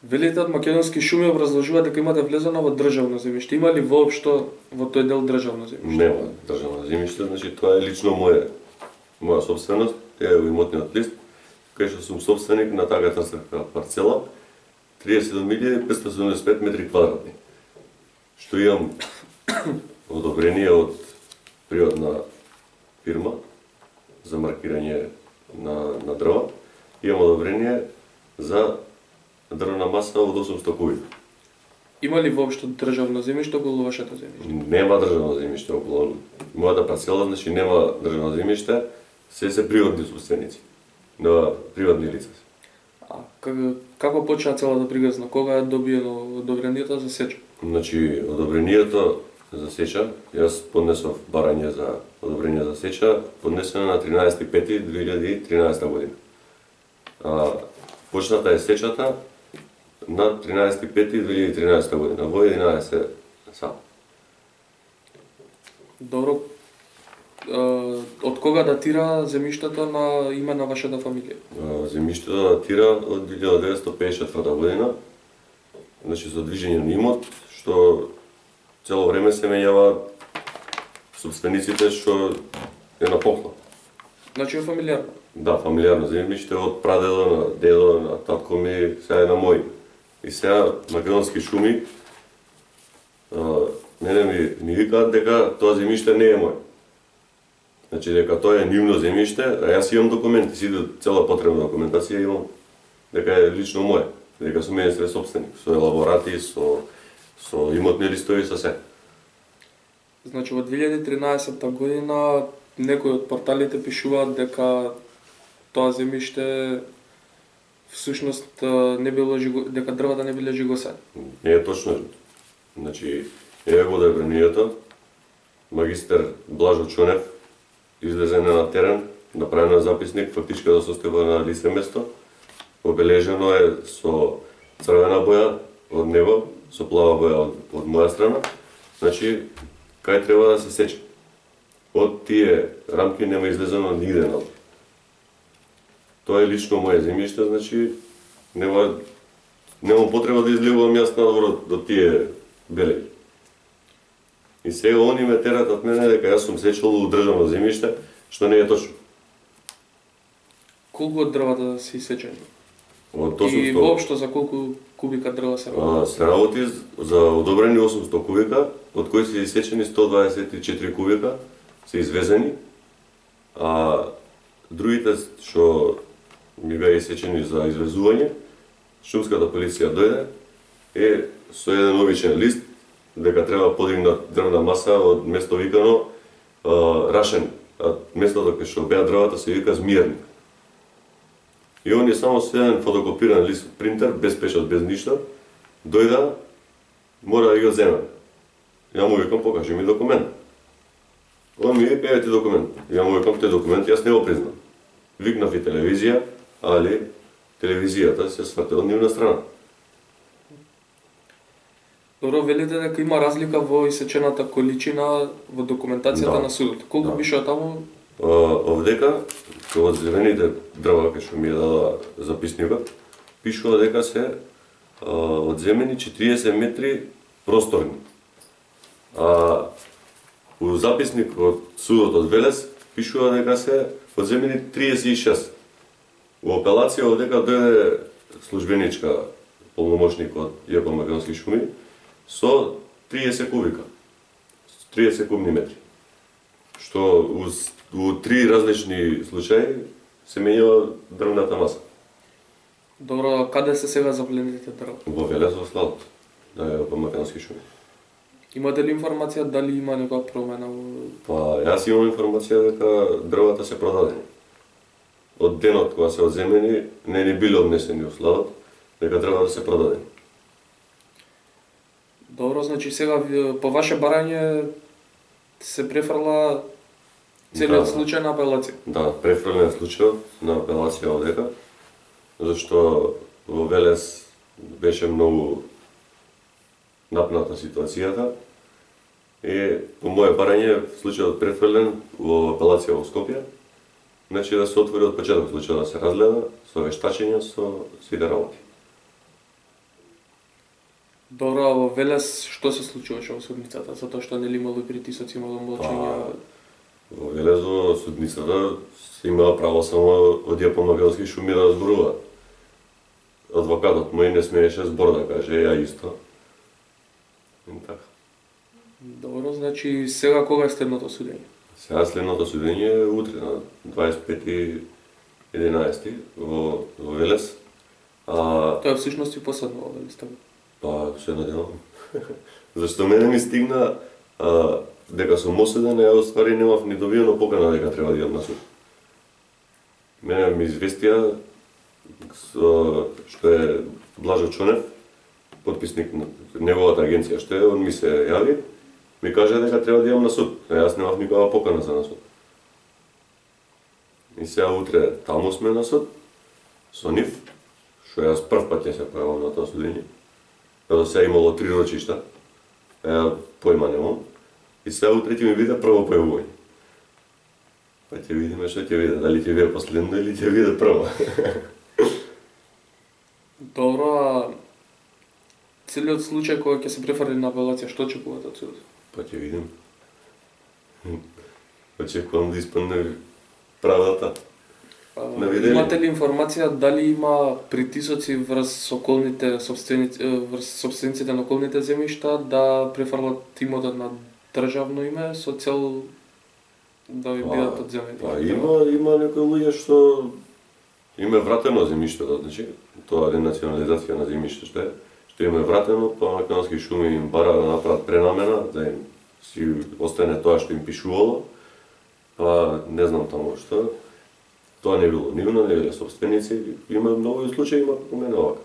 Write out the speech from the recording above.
Велите од Македонски шуми образложува дека имате влезено во државно земјиште. Има ли воопшто во тој дел државно земјиште? Нема државно земјиште, значи тоа е лично моја собственост, е имотниот лист, кај што сум собственик на таа катастарска парцела, 37.575 метри квадратни. Што имам одобрение од приватна фирма за маркирање на дрва. Имам одобрение за дрвна маса од 800 кубика. Има ли воопшто државно земјиште околу вашето земјиште? Нема државно земјиште околу мојата парцела, значи нема државно земјиште, се приватни собственици на приватни лица. А како почна целата приказна? Кога е добиено одобрението за сеча? Значи, одобрението за сеча, јас поднесов барање за одобрение за сеча, поднесено на 13.5.2013 година. Почната е сечата на 13.5.2013 година, во 11 сат. Добро. Од кога датира земјиштето на име на вашата фамилија? Земјиштето датира од 1954 година, значи за движење на имот, што цело време се менјава собствениците што е на поклон. Значи е фамилиарно? Да, фамилиарно земјиште од прадедо на дедо, на татко ми, сега е на мој. И сега Македонски шуми мене ми викаат дека тоа земјиште не е мој. Значи дека тоа е нивно земјиште, а јас имам документи, цела потребна документација имам дека е лично мој, дека сум единствен собственик, со елаборати, со имотни листови, со се. Значи во 2013 година некои од порталите пишуваат дека тоа земјиште всушност не било дека дрвата не биле жигосани. Не е точно. Значи, еве го одобрението, магистер Блажо Чонев излезе на терен, направено записник, фактичка да состојба на лице место, обележено е со црвена боја од него, со плава боја од моја страна, значи, кај треба да се сече. Од тие рамки нема излезено нигде надвор. Тоа е лично моје земјиште, значи, нема потреба да излегувам јас надвор од тие белеги. И сега они ме терат од мене дека јас сум сечел у државно земјиште, што не е точно. Колку од дрвата се исечени? Од 800... И воопшто за колку кубика дрва се работи? Се работи за одобрени 800 кубика, од кои се исечени 124 кубика, се извезени, а другите што ми беа исечени за извезување, шумската полиција дојде е со еден обичен лист дека треба подигнат дрвна маса од место викано Рашен, а местото кај што беа дрвата се вика Змиерник. И он е само со еден фотокопиран лист од принтер, без печат, без ништо, дојда, мора да ги го земе. Ја му викам, покажи ми документ. Он ми вика, еве ти документ. Ја му викам, тој документ јас не го признам. Викнав и телевизија, али телевизијата се сврте од нивна страна. Добро, велите дека има разлика во исечената количина во документацијата на судот. Колку пишува таму? Овдека, од зелените дрва кај што ми е дала записникот, пишува дека се одземени 40 метри просторни. А у записник од судот од Велес пишува дека се одземени 36. Во апелација овдека дојде службеничка полномошник од ЈП Македонски шуми со 30 кубика, 30 кубни метри. Што у три различни случаи се менјава дрвната маса. Добро, каде се сега запленените дрва? Во Велес во складот на ЈП Македонски шуми. Имате ли информација дали има некоја промена? Па, јас имам информација дека дрвата се продадени. Од денот кога се одземени, не ни биле однесени во складот, дека дрвата се продадени. Добро, значи сега по ваше барање се префрла целиот случај на апелација? Да, префрлен случајот на апелација овдека, зашто во Велес беше многу напната ситуацијата и по моје барање случајот префрлен во апелација во Скопје, значи да се отвори од почеток случајот да се разгледа со вештачење, со сите работи. Добро, во Велес што се случуваше во судницата? Затоа што нели имало и притисоци, имало млачења. Во Велес во судницата се имала право само од Јапон Македонски шуми да зборува. Адвокатот мој не смееше збор да каже, ја исто. И така. Добро, значи сега кога е следното судење? Сега следното судење е утре на 25.11 во Велес. Тоа е всушност и последно во Велес, така? Па, се надевам. Зашто мене ми стигна дека сум осуден, ја оствари немав ни добиено покана дека треба да идам на суд. Мене ми известија што е Блажо Чонев, потписник на неговата агенција што е, он ми се јави, ми каже дека треба да идам на суд. Јас немав никаква покана за на суд. И сега утре таму сме на суд, со нив, што јас прв пат ќе се појавам на тоа судење. Кога сега имало 3 рочишта, појма немам, и сега утре ќе ми биде прво појавување. Па ќе видиме што ќе биде, дали ќе биде последно или ќе биде прво. Добро, а целиот случај кога ќе се префрли на апелација, што очекувате од судот? Па ќе видим. Очекувам да испадне правдата. Имате ли информација дали има притисоци врз собствениците на околните земјишта да префрлат имотот на државно име со цел да ви бидат одземени? Па има некои луѓе што им е вратено земјиштето, значи тоа е национализација на земјиште што им е вратено, па Македонски шуми им бара да направат пренамена, да им си остане тоа што им пишувало, па не знам таму што. Тоа не било нивно, не биле собственици, има многу случаи, има како мене овака.